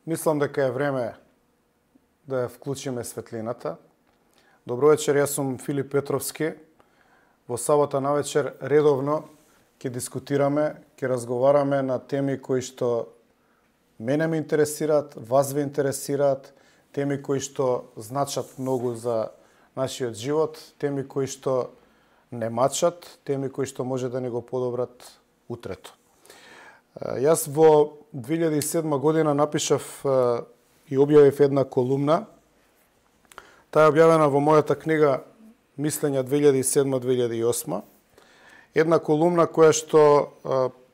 Мислам дека е време да ја вклучиме светлината. Добро вечер, јас сум Филип Петровски. Во сабота навечер редовно ќе дискутираме, ќе разговараме на теми кои што мене ме интересираат, вас ве интересираат, теми кои што значат многу за нашиот живот, теми кои што не мачат, теми кои што може да ни го подобрат утрето. Јас во 2007 година напишав и објавив една колумна. Таа е објавена во мојата книга Мислења 2007-2008. Една колумна која што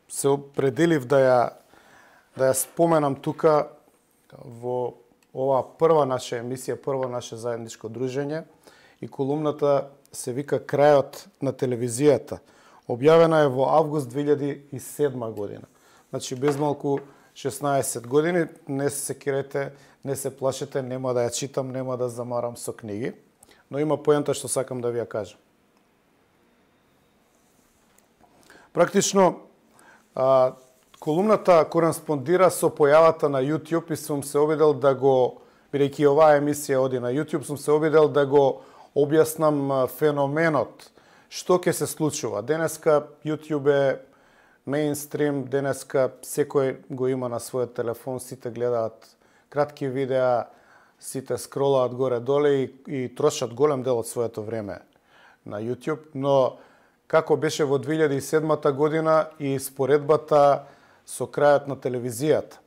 се определив да ја споменам тука во оваа прва наша емисија, прво наше заедничко дружење, и колумната се вика Крајот на телевизијата. Објавена е во август 2007 година. Значи, без малку 16 години, не се секирете, не се плашете, нема да ја читам, нема да замарам со книги, но има поента што сакам да ви ја кажам. Практично, колумната кореспондира со појавата на YouTube и сум се обидел да го, бидејќи оваа емисија оди на YouTube, сум се обидел да го објаснам феноменот, што ќе се случува. Денеска YouTube е меинстрим, денеска секој го има на својот телефон, сите гледаат кратки видеа, сите скролаат горе-доле и трошат голем дел од своето време на YouTube, но како беше во 2007 година и споредбата со крајот на телевизијата.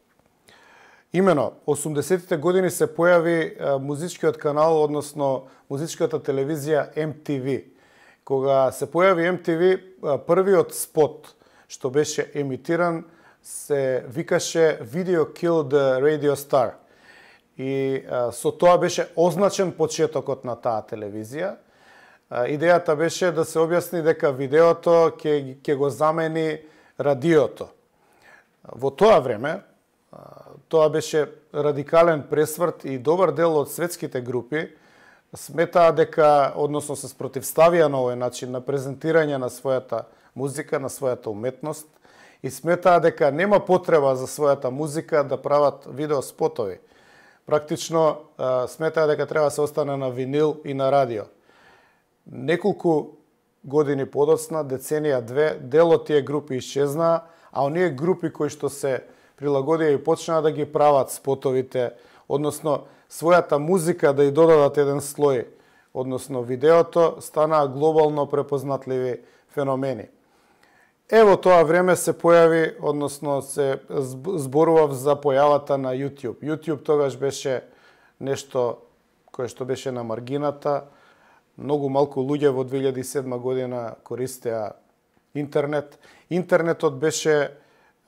Имено, 80-тите години се појави музичкиот канал, односно музичката телевизија MTV. Кога се појави MTV, првиот спот што беше емитиран се викаше Video Killed the Radio Star. И со тоа беше означен почетокот на таа телевизија. Идејата беше да се објасни дека видеото ќе го замени радиото. Во тоа време, тоа беше радикален пресврт и добар дел од светските групи сметаа дека, односно се спротивставија на овој начин на презентирање на својата музика, на својата уметност и сметаа дека нема потреба за својата музика да прават видеоспотови. Практично сметаа дека треба да се остане на винил и на радио. Неколку години подоцна, деценија две, дел од тие групи исчезнаа, а оние групи кои што се прилагодија и почнаа да ги прават спотовите, односно својата музика да ја додадат еден слој, односно видеото, станаа глобално препознатливи феномени. Ево тоа време се појави, односно се зборував за појавата на YouTube. YouTube тогаш беше нешто кое што беше на маргината. Многу малку луѓе во 2007 година користеа интернет. Интернетот беше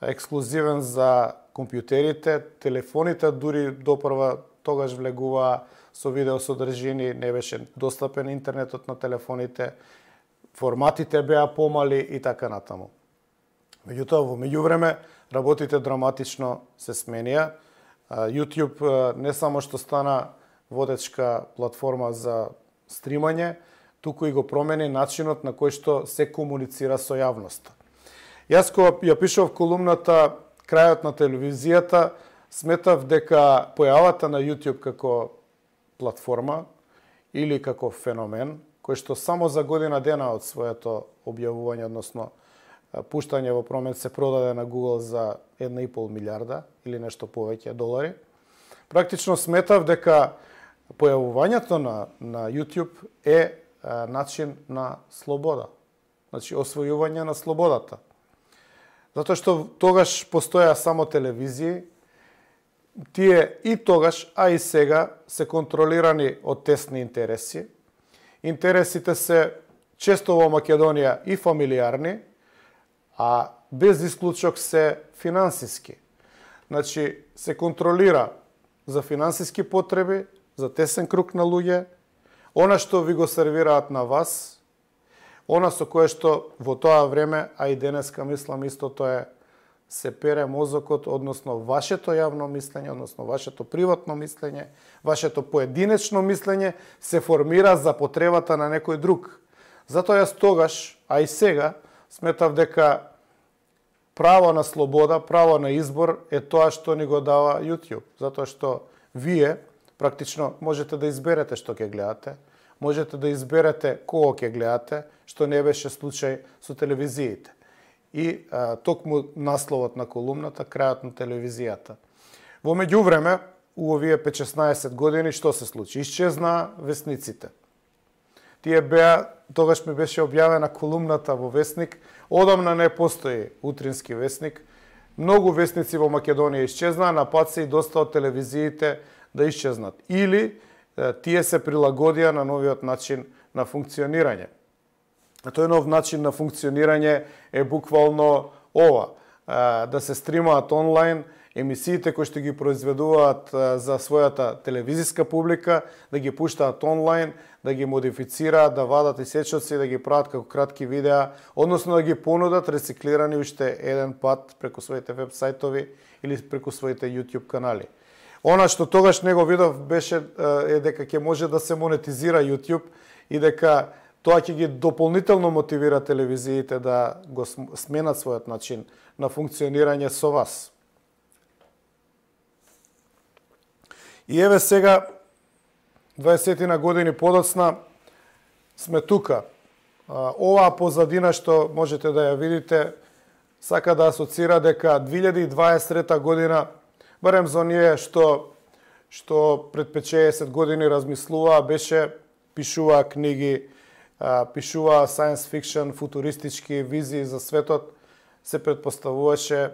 ексклузивен за компјутерите, телефоните дури допрва тогаш влегуваа со видеосодржини, не беше достапен интернетот на телефоните, форматите беа помали и така натаму. Меѓутоа, во меѓувреме, работите драматично се сменија. YouTube не само што стана водечка платформа за стримање, туку и го промени начинот на кој што се комуницира со јавноста. Јас кога ја пишав колумната Крајот на телевизијата, сметав дека појавата на YouTube како платформа или како феномен, кој што само за година дена од своето објавување, односно пуштање во промет, се продаде на Google за 1,5 милиарда или нешто повеќе долари. Практично сметав дека појавувањето на YouTube е начин на слобода. Значи, освојување на слободата. Затоа што тогаш постоја само телевизии, тие и тогаш, а и сега, се контролирани од тесни интереси. Интересите се често во Македонија и фамилиарни, а без исклучок се финансиски. Значи, се контролира за финансиски потреби, за тесен круг на луѓе, она што ви го сервираат на вас, она со кое што во тоа време, а и денеска мислам истото е, се пере мозокот, односно вашето јавно мислење, односно вашето приватно мислење, вашето поединечно мислење се формира за потребата на некој друг. Затоа јас тогаш, а и сега, сметав дека право на слобода, право на избор е тоа што ни го дава YouTube. Затоа што вие практично можете да изберете што ќе гледате, можете да изберете кого ќе гледате, што не беше случај со телевизиите. И токму насловот на колумната, крајот на телевизијата. Во меѓувреме, у овие 5-16 години, што се случи? Исчезна весниците. Тие беа, тогаш ми беше објавена колумната во Весник, одамна не постои утрински весник. Многу весници во Македонија исчезнаа, на пат се и доста од телевизиите да исчезнат. Или тие се прилагодија на новиот начин на функционирање. Тој нов начин на функционирање е буквално ова, да се стримаат онлайн емисиите кои што ги произведуваат за својата телевизиска публика, да ги пуштаат онлайн, да ги модифицираат, да вадат и сечоци, да ги прават како кратки видеа, односно да ги понудат рециклирани уште еден пат преку своите веб сајтови или преку своите YouTube канали. Она што тогаш не го видов беше дека ќе може да се монетизира YouTube и дека тоа ќе ги дополнително мотивира телевизиите да го сменат својот начин на функционирање со вас. И еве сега, 20 на години подоцна, сме тука. Оваа позадина што можете да ја видите, сака да асоцира дека 2023 година, барем за оние што пред 5-60 години размислуваа, беше пишуваа книги, пишуваа science fiction, футуристички визии за светот, се претпоставуваше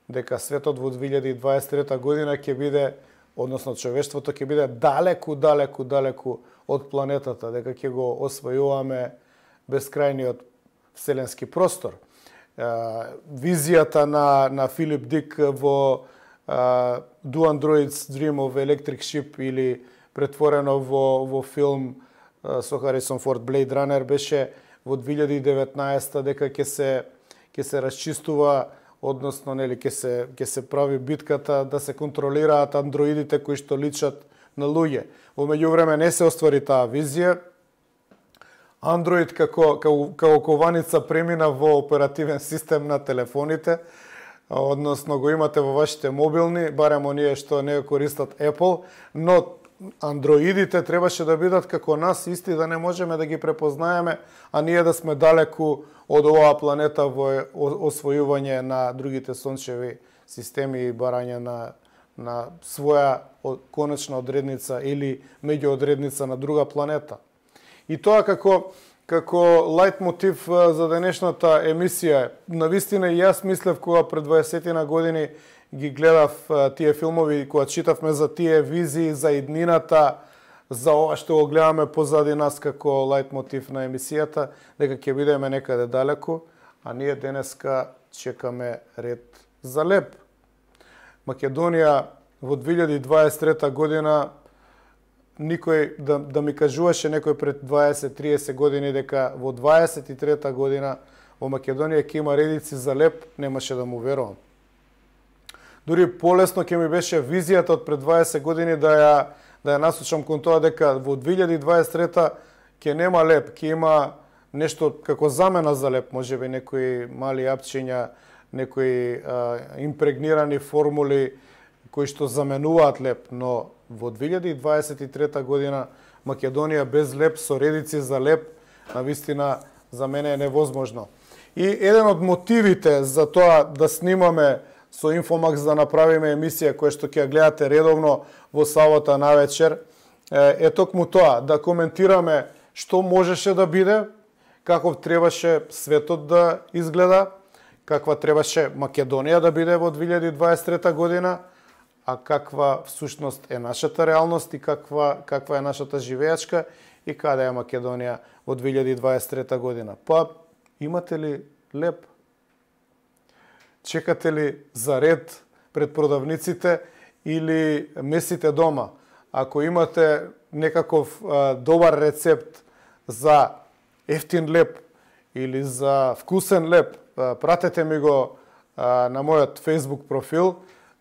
дека светот во 2023 година ќе биде, односно човештвото ќе биде далеку од планетата, дека ќе го освојуваме бескрајниот вселенски простор. Визијата на Филип Дик во Do Androids Dream of Electric Sheep или претворено во филм со Харисон Форд Blade Runner беше во 2019 дека ќе се расчистува, односно нели ќе се прави битката да се контролираат андроидите кои што личат на луѓе. Во меѓувреме не се оствари таа визија. Android како кованица премина во оперативен систем на телефоните, односно го имате во вашите мобилни, барем оние што не користат Apple, но андроидите требаше да бидат како нас, исти, да не можеме да ги препознаеме, а ние да сме далеку од оваа планета во освојување на другите сончеви системи и барање на своја конечна одредница или меѓуодредница на друга планета. И тоа како лајт мотив за денешната емисија, навистина и јас мислев кога пред 20 на години ги гледав тие филмови, кога читавме за тие визии, за иднината, за ова што го гледаме позади нас како лајт мотив на емисијата, дека ќе бидеме некаде далеку, а ние денеска чекаме ред за леп. Македонија во 2023 година никој да ми кажуваше некој пред 20-30 години дека во 23 година во Македонија ќе има редици за леп, немаше да му верувам. Дури полесно ќе ми беше визијата од пред 20 години да ја насочам кон тоа дека во 2023 ќе нема леп, ќе има нешто како замена за леп, можеби некои мали апчиња, некои импрегнирани формули кои што заменуваат леп, но во 2023 година Македонија без леп, со редици за леп, навистина за мене е невозможно. И еден од мотивите за тоа да снимаме со Инфомакс, да направиме емисија која што ќе ја гледате редовно во сабота навечер, е токму тоа, да коментираме што можеше да биде, каков требаше светот да изгледа, каква требаше Македонија да биде во 2023 година, а каква всушност е нашата реалност и каква е нашата живеачка и каде е Македонија во 2023 година. Па, имате ли леп? чекате ли за ред пред продавниците или месите дома? Ако имате некаков добар рецепт за ефтин леп или за вкусен леп, пратете ми го на мојот Facebook профил.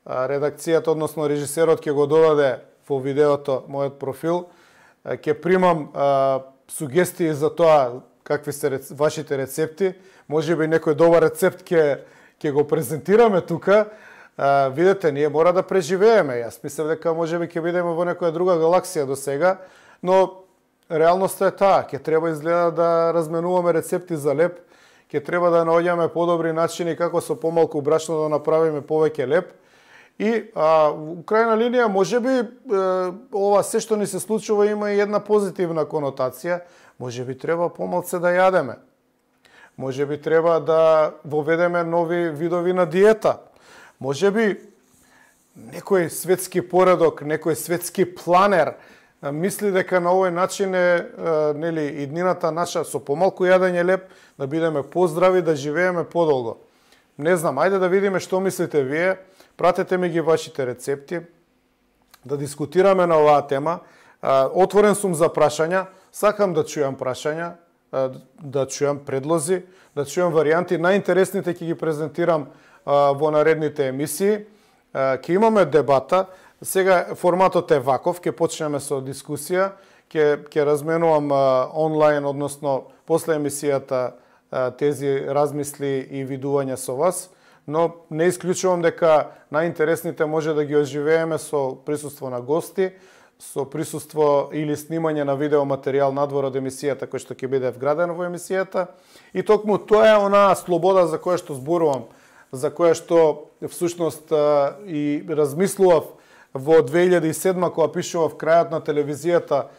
Редакцијата, односно режисерот ќе го додаде во видеото мојот профил. Ќе примам сугестии за тоа какви се вашите рецепти. Можеби некој добар рецепт ќе го презентираме тука. Видете, ние мора да преживееме. Јас мислев дека можеби ќе бидеме во некоја друга галаксија до сега, но реалноста е таа. Ќе треба изгледа да разменуваме рецепти за леп, ќе треба да наоѓаме подобри начини како со помалку брашно да направиме повеќе леп. И у крајна линија, можеби ова се што ни се случува има и една позитивна конотација. Можеби треба помалце да јадеме. Можеби треба да воведеме нови видови на диета. Можеби некој светски поредок, некој светски планер мисли дека на овој начин е иднината наша со помалку јадење леп, да бидеме поздрави, да живееме подолго. Не знам, ајде да видиме што мислите вие. Пратете ми ги вашите рецепти, да дискутираме на оваа тема. Отворен сум за прашања, сакам да чујам прашања, да чујам предлози, да чујам варијанти. Најинтересните ќе ги презентирам во наредните емисии. Ќе имаме дебата. Сега форматот е ваков, ќе почнеме со дискусија, ќе разменувам онлайн, односно после емисијата тези размисли и видувања со вас, но не исклучувам дека најинтересните може да ги оживееме со присуство на гости, со присуство или снимање на видеоматеријал надвор од емисијата кој што ќе биде вграден во емисијата. И токму тоа е онаа слобода за која што зборувам, за која што всушност и размислував во 2007 кога пишував крајот на телевизијата,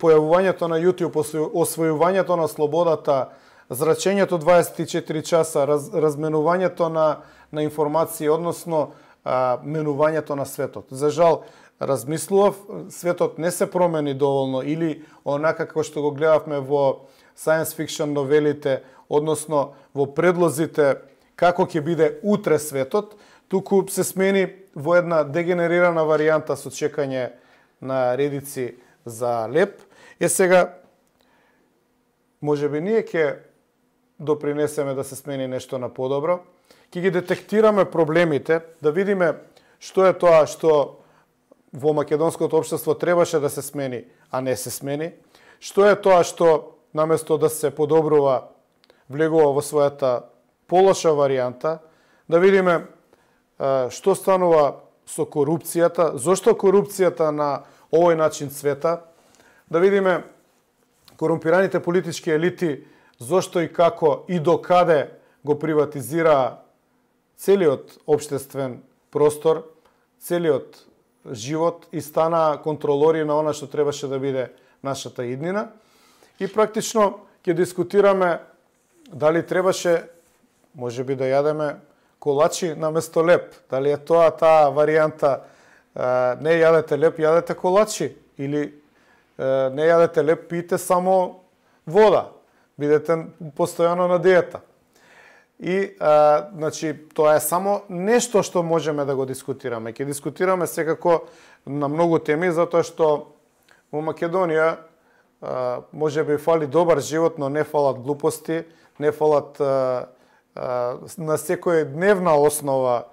појавувањето на YouTube, освојувањето на слободата, зрачењето 24 часа, разменувањето на информации, односно менувањето на светот. За жал, размислував, светот не се промени доволно или онака како што го гледавме во science fiction новелите, односно во предлозите како ќе биде утре светот, туку се смени во една дегенерирана варијанта со чекање на редици за леп. Сега, можеби ние ќе допринесеме да се смени нешто на подобро, ќе ги детектираме проблемите, да видиме што е тоа што во македонското општество требаше да се смени, а не се смени, што е тоа што наместо да се подобрува, влегува во својата полоша варијанта, да видиме што станува со корупцијата, зошто корупцијата на овој начин цвета, да видиме корумпираните политички елити, зошто и како и до каде го приватизира целиот општествен простор, целиот живот и стана контролори на она што требаше да биде нашата иднина. И практично ќе дискутираме дали требаше можеби да јадеме колачи наместо леп. Дали е тоа таа варијанта, не јадете леп, јадете колачи, или не јадете леп, пиете само вода, бидете постојано на диета. И значи тоа е само нешто што можеме да го дискутираме. Ќе дискутираме секако на многу теми, затоа што во Македонија можеби фали добар живот, но не фалат глупости, не фалат на секоја дневна основа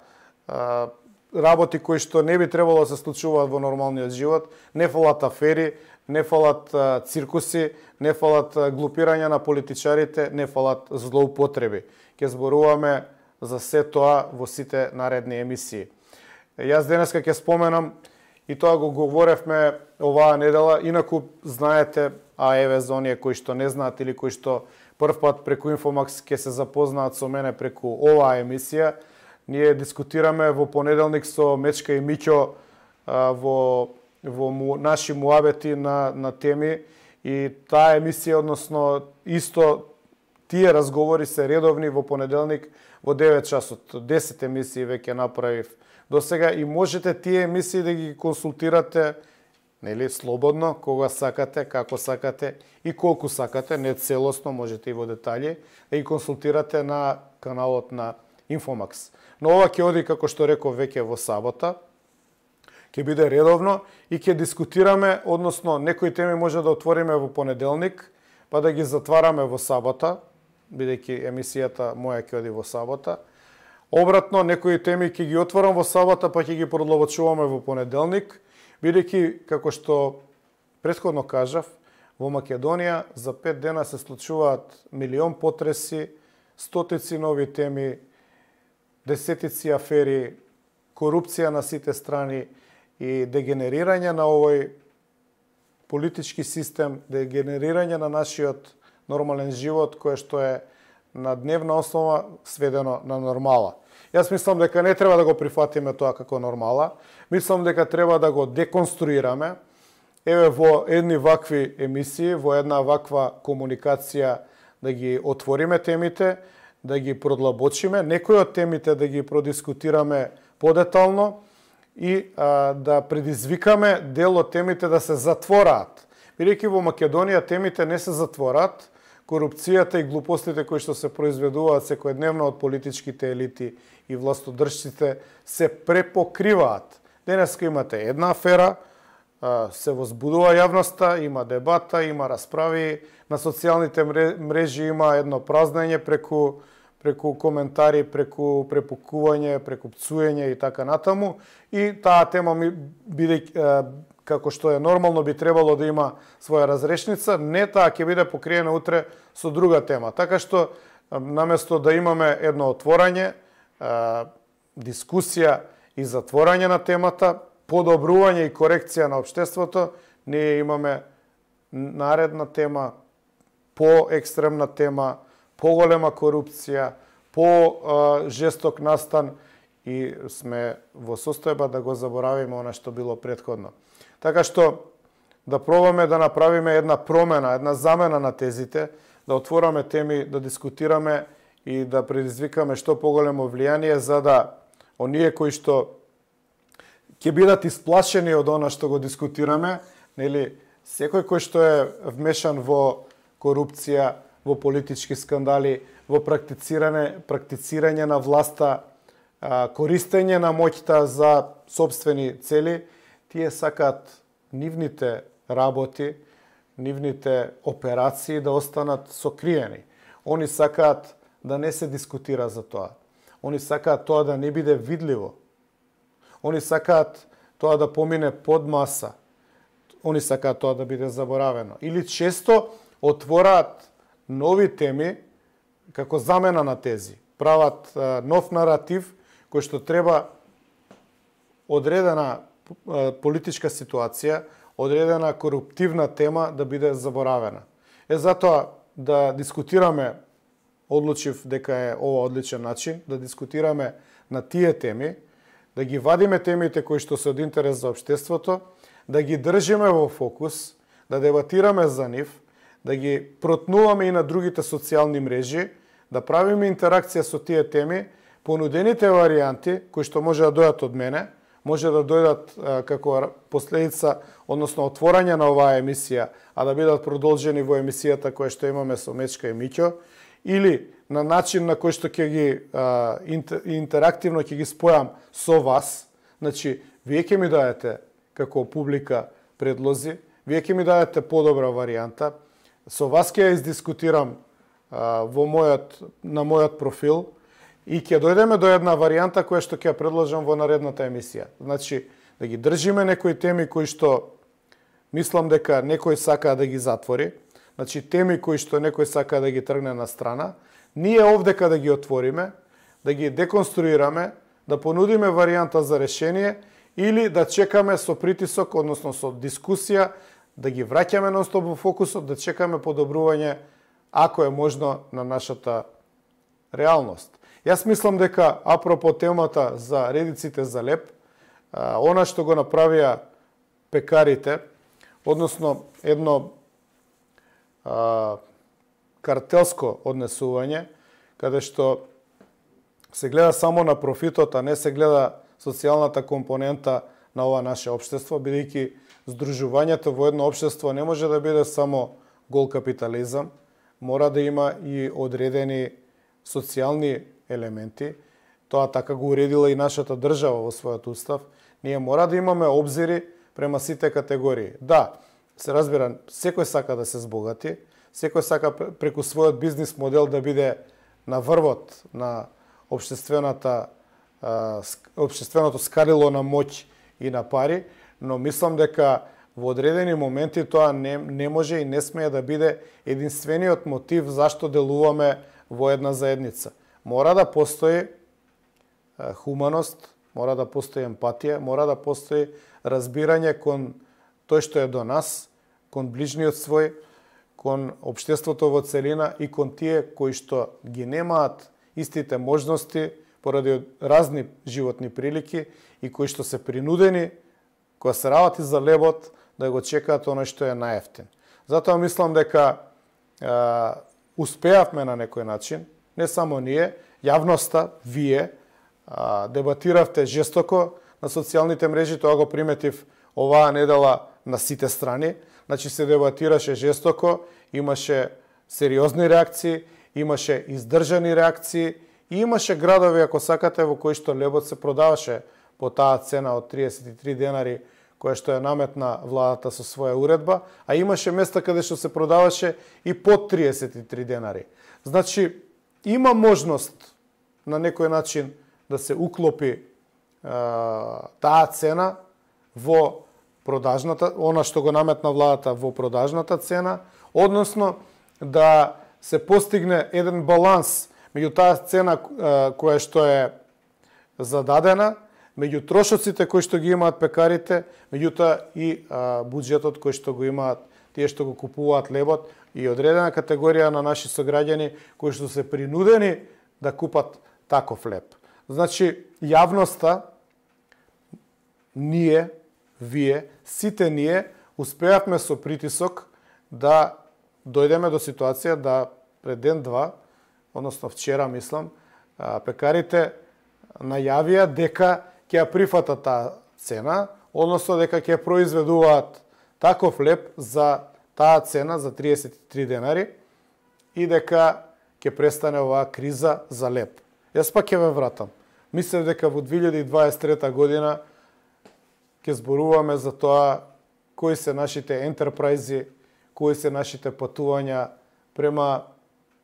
работи кои што не би требало да се случуваат во нормалниот живот, не фалат афери, не фалат циркуси, не фалат глупирања на политичарите, не фалат злоупотреби. Ќе зборуваме за се тоа во сите наредни емисии. Јас денеска ќе споменам, и тоа го говоревме оваа недела, инаку знаете, а еве за оние кои што не знаат или кои што прв пат преку Инфомакс ќе се запознаат со мене преку оваа емисија, ние дискутираме во понеделник со Мечка и Миќо во наши муабети на теми, и таа емисија, односно исто тие разговори се редовни во понеделник во 9 часот. 10 емисии веќе направив до сега и можете тие емисии да ги консултирате, нели, слободно, кога сакате, како сакате и колку сакате, не целосно, можете и во детали, да ги консултирате на каналот на Инфомакс. Но ова ќе оди, како што реков, веќе во сабота, ќе биде редовно и ќе дискутираме, односно некои теми може да отвориме во понеделник, па да ги затвараме во сабота, бидејќи емисијата моја ќе оди во сабота. Обратно, некои теми ќе ги отворам во сабота, па ќе ги продлабочуваме во понеделник, бидејќи, како што претходно кажав, во Македонија за 5 дена се случуваат милион потреси, стотици нови теми, десетици афери, корупција на сите страни и дегенерирање на овој политички систем, дегенерирање на нашиот нормален живот, кој што е на дневна основа сведено на нормала. Јас мислам дека не треба да го прифатиме тоа како нормала, мислам дека треба да го деконструираме. Еве во едни вакви емисии, во една ваква комуникација да ги отвориме темите, да ги продлабочиме, некои од темите да ги продискутираме подетално и да предизвикаме дел од темите да се затвораат. Бидејќи во Македонија темите не се затвораат, корупцијата и глупостите кои што се произведуваат секојдневно од политичките елити и властодржците се препокриваат. Денеска имате една афера, се возбудува јавноста, има дебата, има расправи, на социјалните мрежи има едно празнење преку коментари, преку препукување, преку пцуење и така натаму. И таа тема како што е нормално би требало да има своја разрешница, не таа ќе биде покриена утре со друга тема. Така што наместо да имаме едно отворање, дискусија и затворање на темата, подобрување и корекција на општеството, ние имаме наредна тема, поекстремна тема, поголема корупција, по-жесток настан и сме во состојба да го заборавиме она што било претходно. Така што да пробаме да направиме една промена, една замена на тезите, да отвораме теми, да дискутираме и да предизвикаме што поголемо влијание за да оние кои што ќе бидат исплашени од она што го дискутираме, нели, секој кој што е вмешан во корупција, во политички скандали, во практицирање на власта, користење на моќта за сопствени цели, тие сакаат нивните работи, нивните операции да останат сокриени. Они сакаат да не се дискутира за тоа. Они сакаат тоа да не биде видливо. Они сакаат тоа да помине под маса. Они сакаат тоа да биде заборавено. Или често отвораат нови теми како замена на тези. Прават нов наратив кој што треба одредена политичка ситуација, одредена коруптивна тема да биде заборавена. Затоа да дискутираме, одлучив дека е ова одличен начин, да дискутираме на тие теми, да ги вадиме темите кои што се од интерес за општеството, да ги држиме во фокус, да дебатираме за нив, да ги протнуваме и на другите социјални мрежи, да правиме интеракција со тие теми, понудените варијанти кои што може да дојдат од мене, може да дојдат како последица, односно отворање на оваа емисија, а да бидат продолжени во емисијата која што имаме со Мечка и Миќо, или на начин на кој што ќе ги интерактивно ќе ги спојам со вас. Значи, вие ќе ми даете како публика предлози, вие ќе ми даете подобра варијанта, со вас ќе ја издискутирам на мојот профил и ќе дојдеме до една варијанта која што ќе ја предложам во наредната емисија. Значи, да ги држиме некои теми кои што мислам дека некој сака да ги затвори, значи теми кои што некој сака да ги тргне на страна, ние овдека да ги отвориме, да ги деконструираме, да понудиме варијанта за решение или да чекаме со притисок, односно со дискусија, да ги враќаме нонстоп во фокусот, да чекаме подобрување, ако е можно, на нашата реалност. Јас мислам дека, апропо темата за редиците за леп, она што го направија пекарите, односно едно картелско однесување, каде што се гледа само на профитот, а не се гледа социјалната компонента на ова наше општество, бидејќи здружувањето во едно општество не може да биде само гол капитализам, мора да има и одредени социјални елементи, тоа така го уредила и нашата држава во својот устав, ние мора да имаме обзири према сите категории. Да, се разбира, секој сака да се збогати, секој сака преку својот бизнис модел да биде на врвот на општественото скалило на моќ и на пари, но мислам дека во одредени моменти тоа не може и не смее да биде единствениот мотив зашто делуваме во една заедница. Мора да постои хуманост, мора да постои емпатија, мора да постои разбирање кон тој што е до нас, кон ближниот свој, кон општеството во целина и кон тие кои што ги немаат истите можности поради разни животни прилики и кои што се принудени, кога се работи за лебот, да го чекаат оној што е најевтин. Затоа мислам дека успеавме на некој начин, не само ние, јавноста, вие, дебатиравте жестоко на социјалните мрежи, тоа го приметив оваа недела на сите страни, значи се дебатираше жестоко, имаше сериозни реакции, имаше издржани реакции и имаше градови, ако сакате, во кои што лебот се продаваше по таа цена од 33 денари, која што ја наметна владата со своја уредба, а имаше места каде што се продаваше и под 33 денари. Значи, има можност на некој начин да се уклопи таа цена во продажната, она што го наметна владата во продажната цена, односно да се постигне еден баланс меѓу таа цена која што е зададена, меѓу трошоците кои што ги имаат пекарите, меѓутоа и буџетот кој што го имаат тие што го купуваат лебот и одредена категорија на наши сограѓани кои што се принудени да купат таков леб. Значи, јавноста, ние, вие, сите ние успеавме со притисок да дојдеме до ситуација да пред ден-два, односно вчера, мислам, пекарите најавија дека ќе ја прифатат таа цена, односно дека ќе произведуваат таков леб за таа цена за 33 денари и дека ќе престане оваа криза за леб. Јас пак ќе ве вратам. Мислев дека во 2023 година ќе зборуваме за тоа кои се нашите ентерпрајзи, кои се нашите патувања према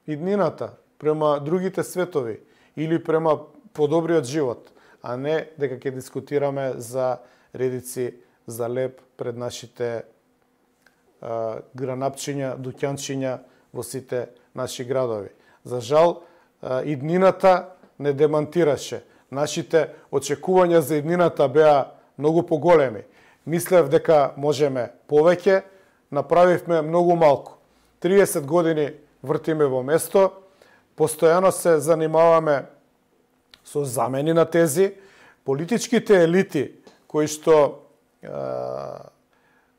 иднината, према другите светови или према подобриот живот, а не дека ќе дискутираме за редици за леб пред нашите гранапчиња, дуќанчиња во сите наши градови. За жал, иднината не демантираше. Нашите очекувања за иднината беа многу поголеми. Мислев дека можеме повеќе, направивме многу малку. 30 години вртиме во место, постојано се занимаваме со замени на тези, политичките елити кои што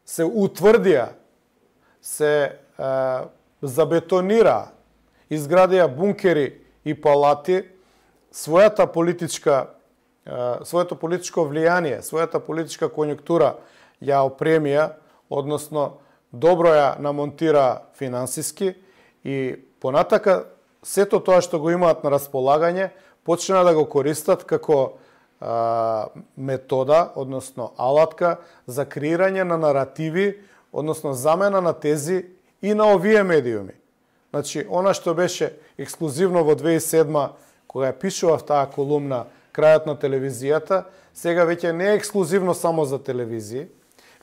се утврдија, се забетонира, изградија бункери и палати, своето политичко влијание, својата политичка конјунктура ја опремија, односно добро ја намонтира финансиски и понатака сето тоа што го имаат на располагање почна да го користат како метода, односно алатка за креирање на наративи, односно замена на тези и на овие медиуми. Значи, она што беше ексклузивно во 2007 кога ја пишував таа колумна крајот на телевизијата, сега веќе не е ексклузивно само за телевизии.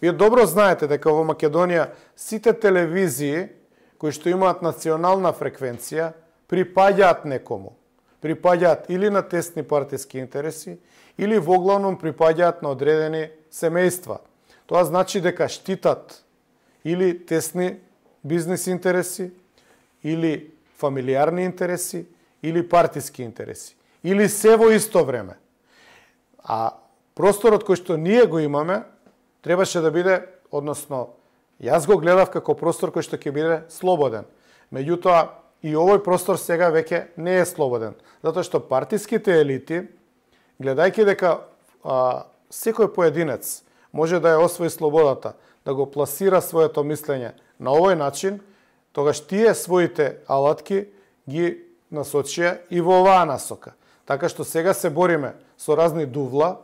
Вие добро знаете дека во Македонија сите телевизии кои што имаат национална фреквенција припаѓаат некому. Припаѓаат или на тесни партиски интереси, или воглавном припаѓаат на одредени семејства. Тоа значи дека штитат или тесни бизнис интереси, или фамилиарни интереси, или партиски интереси. Или се во исто време. А просторот кој што ние го имаме, требаше да биде, односно, јас го гледав како простор кој што ќе биде слободен. Меѓутоа, и овој простор сега веќе не е слободен. Затоа што партиските елити, гледајќи дека секој поединец може да ја освои слободата, да го пласира своето мислење на овој начин, тогаш тие своите алатки ги насочија и во оваа насока. Така што сега се бориме со разни дувла,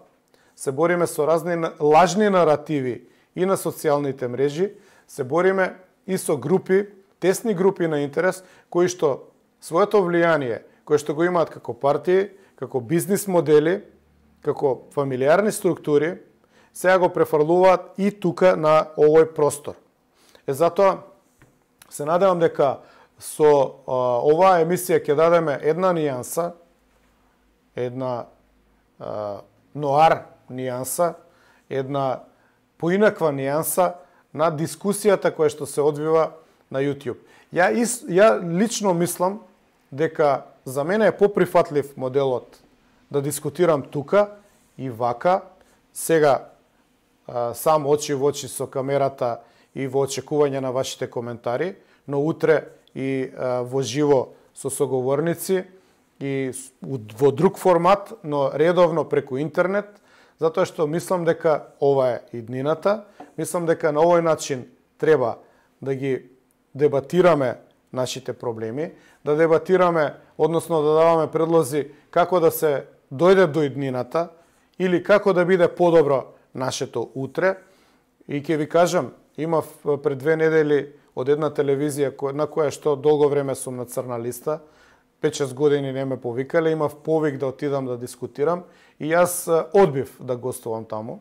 се бориме со разни лажни наративи и на социјалните мрежи, се бориме и со групи, тесни групи на интерес, кои што своето влијание, кои што го имаат како партии, како бизнис модели, како фамилиарни структури, сега го префрлуваат и тука на овој простор. Затоа се надевам дека со оваа емисија ќе дадеме една нијанса, една ноар нијанса, една поинаква нијанса на дискусијата која што се одвива на YouTube. Ја лично мислам дека за мене е поприфатлив моделот да дискутирам тука и вака, сега сам очи во очи со камерата и во очекување на вашите коментари, но утре и во живо со соговорници и во друг формат, но редовно преку интернет, затоа што мислам дека ова е иднината, мислам дека на овој начин треба да ги дебатираме нашите проблеми, да дебатираме, односно да даваме предлози како да се дојде до иднината или како да биде подобро нашето утре. И ќе ви кажам, имав пред 2 недели од една телевизија на која што долго време сум на црна листа, 5-6 години не ме повикале, имав повик да отидам да дискутирам и јас одбив да гостувам таму.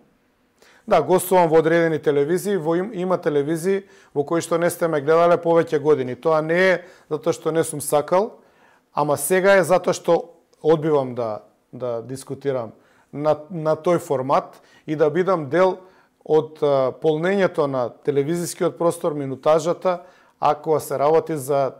Да, гостувам во одредени телевизии, има телевизии во кои што не сте ме гледале повеќе години. Тоа не е затоа што не сум сакал, ама сега е затоа што одбивам да дискутирам на тој формат и да бидам дел од полнењето на телевизискиот простор, минутажата, ако се работи за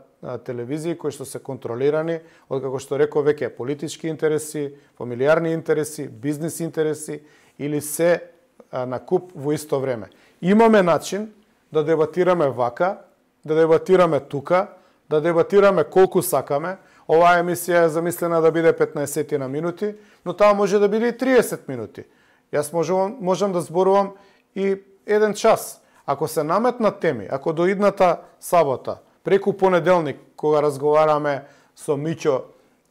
телевизии кои што се контролирани од, како што реков веќе, политички интереси, фамилиарни интереси, бизнис интереси или се на куп во исто време. Имаме начин да дебатираме вака, да дебатираме тука, да дебатираме колку сакаме. Оваа емисија е замислена да биде 15 на минути, но таа може да биде и 30 минути. Јас можам да зборувам и 1 час. Ако се наметнат теми, ако до идната сабота, преку понеделник, кога разговараме со Миќо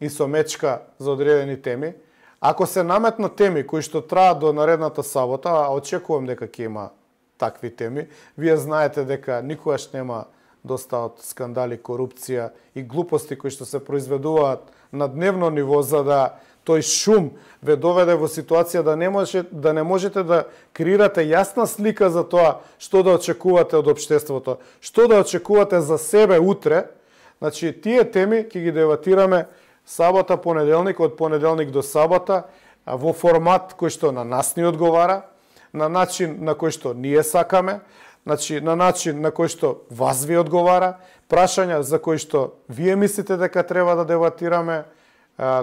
и со Мечка за одредени теми, ако се наметнат теми кои што траат до наредната сабота, а очекувам дека ќе има такви теми, вие знаете дека никогаш нема доста од скандали, корупција и глупости кои што се произведуваат на дневно ниво за да тој шум ве доведе во ситуација да не можете да креирате јасна слика за тоа што да очекувате од општеството, што да очекувате за себе утре. Значи, тие теми ќе ги дебатираме сабота, понеделник, од понеделник до сабота, во формат кој што на нас ни одговара, на начин на кој што ние сакаме, значи на начин на кој што вас ви одговара, прашања за кои што вие мислите дека треба да дебатираме,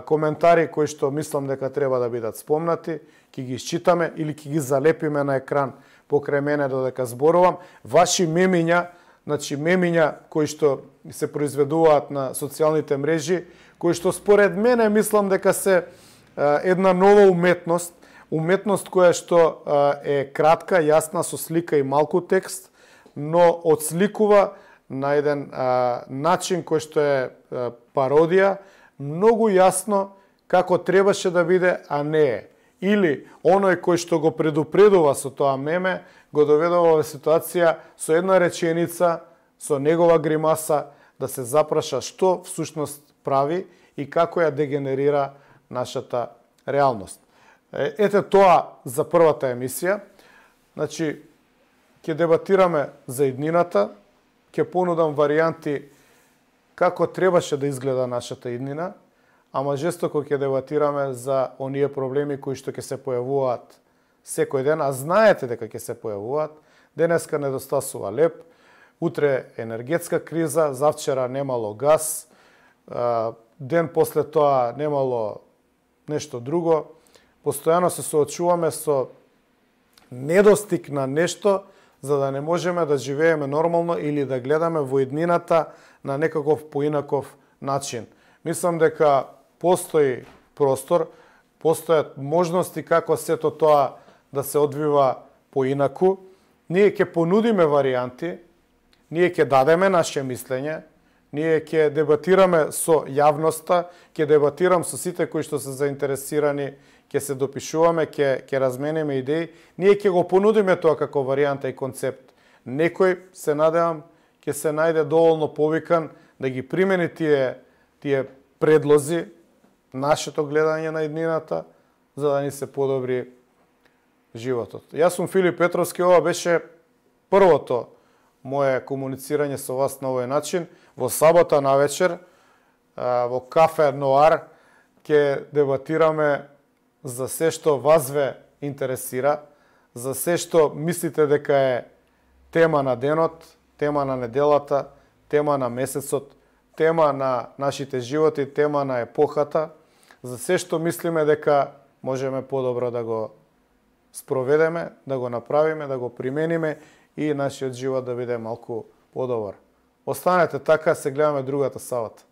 коментари кои што мислам дека треба да бидат спомнати, ќе ги исчитаме или ќе ги залепиме на екран покрај мене додека зборувам. Ваши мемиња, значи мемиња кои што се произведуваат на социјалните мрежи, кои што според мене мислам дека се една нова уметност, уметност која што е кратка, јасна, со слика и малку текст, но отсликува на еден начин кој што е пародија, многу јасно како требаше да биде, а не е. Или оној кој што го предупредува со тоа меме, го доведува во ситуација со една реченица, со негова гримаса, да се запраша што всушност прави и како ја дегенерира нашата реалност. Ете тоа за првата емисија. Значи, ќе дебатираме за иднината, ќе понудам варијанти како требаше да изгледа нашата иднина, ама жестоко ќе дебатираме за оние проблеми кои што ќе се појавуваат секој ден, а знаете дека ќе се појавуваат. Денеска недостасува леп, утре енергетска криза, завчера немало газ, ден после тоа немало нешто друго. Постојано се соочуваме со недостиг на нешто за да не можеме да живееме нормално или да гледаме во иднината на некаков поинаков начин. Мислам дека постои простор, постојат можности како сето тоа да се одвива поинаку. Ние ќе понудиме варијанти, ние ќе дадеме наше мислење, Ние ќе дебатираме со јавноста, ќе дебатирам со сите кои што се заинтересирани, ќе се допишуваме, ќе размениме идеи. Ние ќе го понудиме тоа како варијанта и концепт. Некој, се надевам, ќе се најде доволно повикан да ги примени тие предлози, нашето гледање на иднината, за да ни се подобри животот. Јас сум Филип Петровски, ова беше првото мое комуницирање со вас на овој начин. Во сабота навечер, во кафе Ноар, ќе дебатираме за се што вас ве интересира, за се што мислите дека е тема на денот, тема на неделата, тема на месецот, тема на нашите животи, тема на епохата, за се што мислиме дека можеме подобро да го спроведеме, да го направиме, да го примениме и нашиот живот да биде малку подобар. Останете така, се гледаме другата сабота.